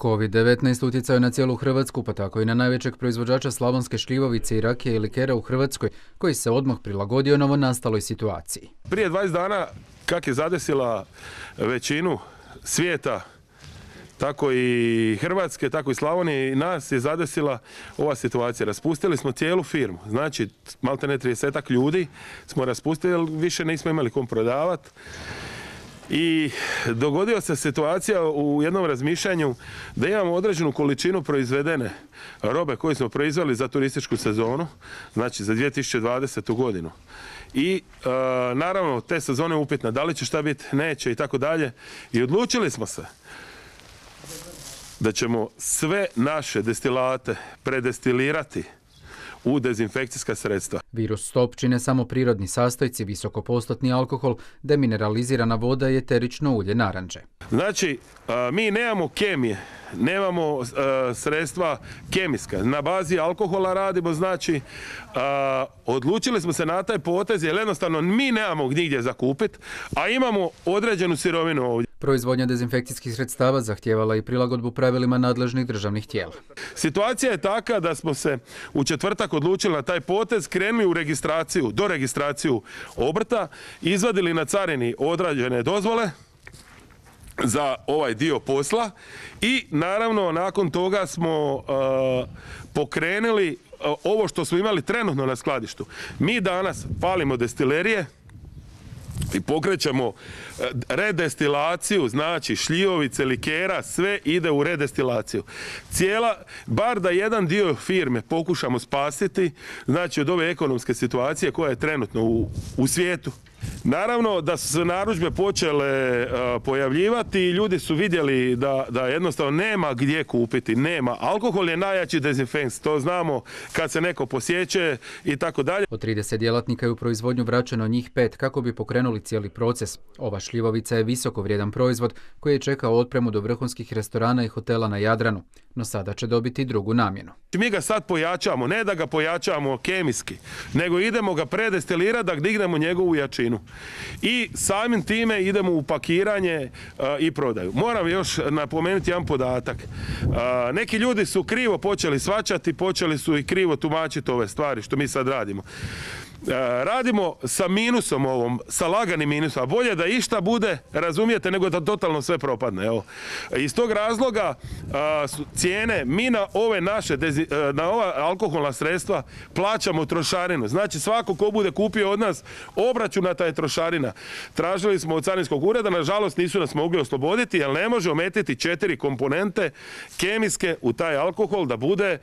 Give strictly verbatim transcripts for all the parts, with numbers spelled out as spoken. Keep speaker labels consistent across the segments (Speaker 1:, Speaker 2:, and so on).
Speaker 1: kovid devetnaest utjecao je na cijelu Hrvatsku, pa tako i na najvećeg proizvođača slavonske šljivovice i rakije i likera u Hrvatskoj, koji se odmah prilagodio novonastaloj situaciji.
Speaker 2: Prije dvadeset dana, kak je zadesila većinu svijeta, tako i Hrvatske, tako i Slavonije, i nas je zadesila ova situacija. Raspustili smo cijelu firmu, znači malte ne tridesetak ljudi smo raspustili, jer više nismo imali kom prodavati. I dogodila se situacija u jednom razmišljanju da imamo određenu količinu proizvedene robe koju smo proizveli za turističku sezonu, znači za dvije tisuće dvadesetu godinu. I e, naravno te sezone je upitna, da li će šta biti, neće i tako dalje. I odlučili smo se da ćemo sve naše destilate predestilirati u dezinfekcijska sredstva.
Speaker 1: Virus stop čine samo prirodni sastojci, visokopostotni alkohol, demineralizirana voda i eterično ulje naranče.
Speaker 2: Znači, mi nemamo kemije, nemamo sredstva kemijska. Na bazi alkohola radimo, znači, odlučili smo se na taj potez jer jednostavno mi nemamo nigdje za kupiti, a imamo određenu sirovinu ovdje.
Speaker 1: Proizvodnja dezinfekcijskih sredstava zahtijevala i prilagodbu pravilima nadležnih državnih tijela.
Speaker 2: Situacija je taka da smo se u četvrtak odlučili na taj potez, krenuli u registraciju, do registraciju obrta, izvadili na carini odrađene dozvole za ovaj dio posla i naravno nakon toga smo uh, pokrenuli uh, ovo što smo imali trenutno na skladištu. Mi danas palimo destilerije i pokrećemo redestilaciju, znači šljivovice, likera, sve ide u redestilaciju. Cijela, bar da jedan dio firme pokušamo spasiti, znači od ove ekonomske situacije koja je trenutno u, u svijetu. Naravno da su se narudžbe počele uh, pojavljivati i ljudi su vidjeli da, da jednostavno nema gdje kupiti, nema. Alkohol je najjači dezinfekt, to znamo kad se neko posjeće i tako dalje.
Speaker 1: Od trideset djelatnika je u proizvodnju vraćeno njih pet kako bi pokrenuli cijeli proces. Ova šljivovica je visoko vrijedan proizvod koji je čekao otpremu do vrhunskih restorana i hotela na Jadranu, no sada će dobiti drugu namjenu.
Speaker 2: Mi ga sad pojačamo, ne da ga pojačamo kemijski, nego idemo ga predestilirati da dignemo njegovu jačinu. I samim time idemo u pakiranje uh, i prodaju. Moram još napomenuti jedan podatak. Uh, neki ljudi su krivo počeli shvaćati, počeli su i krivo tumačiti ove stvari što mi sad radimo. Uh, radimo sa minusom ovom, sa laganim minusom, a bolje da išta bude, razumijete, nego da totalno sve propadne. Evo. Iz tog razloga uh, su cijene, mi na ove naše, dezi, uh, na ova alkoholna sredstva plaćamo trošarinu. Znači svako ko bude kupio od nas obračunata je trošarina. Tražili smo od carinskog ureda, nažalost nisu nas mogli osloboditi, jer ne može ometiti četiri komponente kemijske u taj alkohol da bude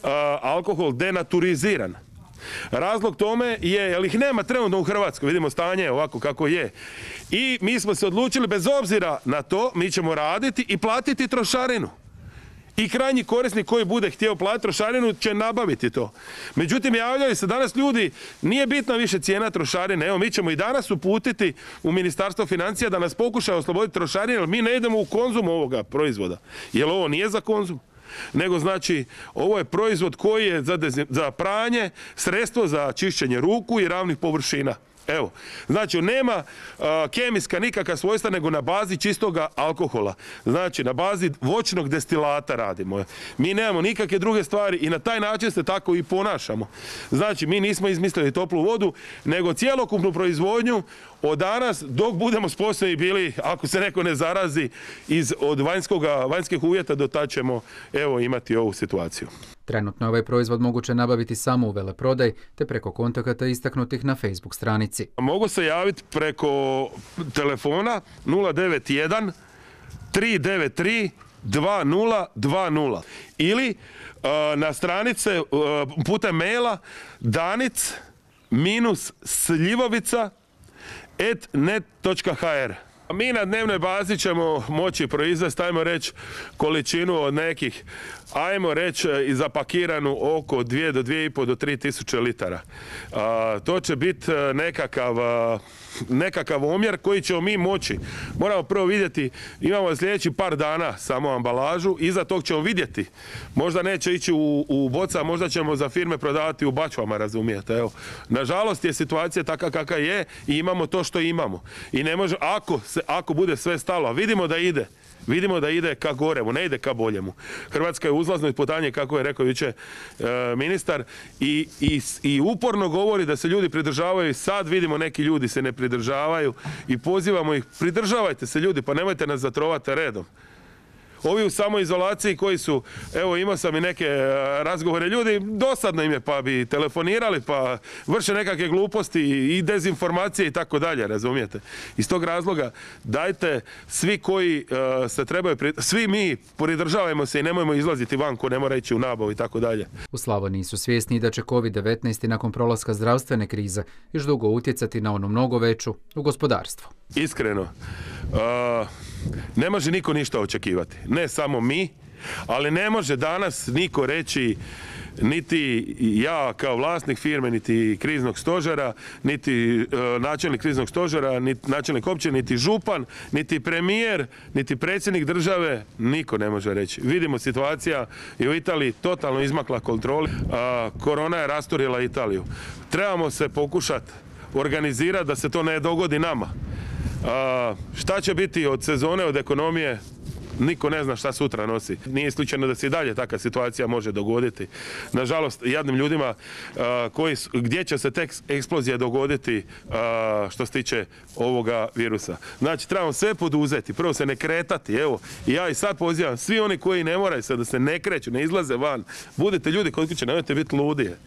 Speaker 2: uh, alkohol denaturiziran. Razlog tome je, jer ih nema trenutno u Hrvatskoj, vidimo stanje ovako kako je. I mi smo se odlučili, bez obzira na to, mi ćemo raditi i platiti trošarinu. I krajnji korisnik koji bude htio platiti trošarinu će nabaviti to. Međutim, javljaju se danas ljudi, nije bitna više cijena trošarine. Evo, mi ćemo i danas uputiti u Ministarstvo financija da nas pokušaju osloboditi trošarine, jer mi ne idemo u konzum ovoga proizvoda. Jer ovo nije za konzum. Nego znači ovo je proizvod koji je za, za pranje, sredstvo za čišćenje ruku i ravnih površina. Evo, znači nema uh, kemijska nikakva svojstva nego na bazi čistoga alkohola. Znači na bazi voćnog destilata radimo. Mi nemamo nikakve druge stvari i na taj način se tako i ponašamo. Znači mi nismo izmislili toplu vodu, nego cjelokupnu proizvodnju od danas dok budemo sposobni bili, ako se neko ne zarazi iz, od vanjskoga, vanjskih uvjeta, do tad ćemo evo imati ovu situaciju.
Speaker 1: Trenutno je ovaj proizvod moguće nabaviti samo u veleprodaji te preko kontakata istaknutih na Facebook stranici.
Speaker 2: Mogu se javiti preko telefona nula devet jedan tri devet tri dva nula dva nula ili uh, na stranice uh, putem maila danic sljivovica et net točka ha er. Mi na dnevnoj bazi ćemo moći proizvesti, ajmo reći, količinu od nekih, ajmo reći, i zapakiranu oko dvije do dvije i pol do tri tisuće litara. A, to će biti nekakav, nekakav omjer koji ćemo mi moći. Moramo prvo vidjeti, imamo sljedeći par dana samo ambalažu, iza tog ćemo vidjeti. Možda neće ići u, u boca, možda ćemo za firme prodavati u bačvama, razumijete. Evo. Nažalost je situacija taka kakva je i imamo to što imamo. I ne može, ako, se, ako bude sve stalo, a vidimo da ide, Vidimo da ide ka goremu, ne ide ka boljemu. Hrvatska je u uzlaznoj putanji, kako je rekao jučer e, ministar, i, i, i uporno govori da se ljudi pridržavaju i sad vidimo neki ljudi se ne pridržavaju i pozivamo ih, pridržavajte se ljudi, pa nemojte nas zatrovati redom. Ovi u samoizolaciji koji su, evo imao sam i neke razgovore, ljudi dosadno im je pa bi telefonirali pa vrše nekakve gluposti i dezinformacije i tako dalje, razumijete? Iz tog razloga dajte svi koji uh, se trebaju, svi mi pridržavajmo se i nemojmo izlaziti van ko ne mora ići u nabavu i tako dalje.
Speaker 1: U Slavoniji su svjesni da će kovid devetnaest nakon prolaska zdravstvene krize još dugo utjecati na onu mnogo veću u gospodarstvu.
Speaker 2: Iskreno, uh, ne može niko ništa očekivati. Ne samo mi, ali ne može danas niko reći, niti ja kao vlasnik firme, niti kriznog stožera, niti uh, načelnik kriznog stožera, niti načelnik općine, niti župan, niti premijer, niti predsjednik države, niko ne može reći. Vidimo, situacija je u Italiji totalno izmakla kontroli. Uh, korona je rasturila Italiju. Trebamo se pokušati organizirati da se to ne dogodi nama. A, šta će biti od sezone, od ekonomije, niko ne zna šta sutra nosi. Nije isključeno da se i dalje takva situacija može dogoditi. Nažalost, jadnim ljudima a, koji, gdje će se tek eksplozija dogoditi a, što se tiče ovoga virusa. Znači, trebamo sve poduzeti, prvo se ne kretati, evo, i ja i sad pozivam svi oni koji ne moraju se da se ne kreću, ne izlaze van, budite ljudi kod kuće, nemojte biti ludije.